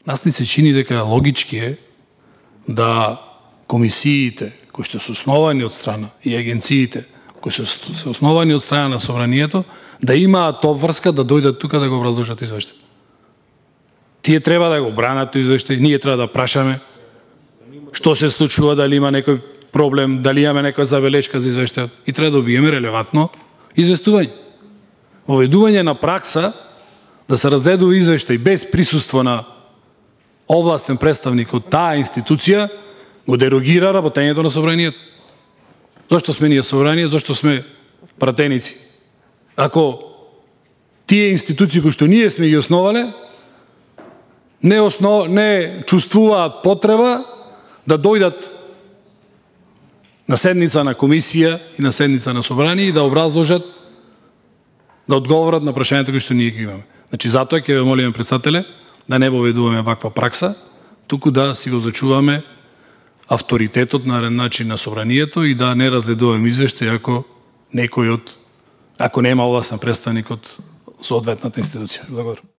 Нас ни се чини дека логички е да комисиите кои што се основани од страна и агенциите кои се основани од страна на собранието да имаат обврска да дојдат тука да го образложат извештај. Тие треба да го бранат извештај, ние треба да прашаме што се случува, дали има некој проблем, дали имаме некоја забелешка за извештајот и треба да добиеме релевантно известување. Воведување на пракса да се разгледува извештај без присуство на овластен представник од таа институција го дерогира работењето на собранието. Зошто сме ние собрание, зошто сме пратеници? Ако тие институции кои што ние сме ги основале не чувствуваат потреба да дојдат на седница на комисија и на седница на собрание и да образложат, да одговорат на прашањата кои што ние ги имаме. Значи, затоа ќе ве молиме, председателе, да не воведуваме ваква пракса, туку да си го зачуваме авторитетот на начин на собранието и да не разгледуваме извештај ако нема овластен представник од соодветната институција. Благодарам.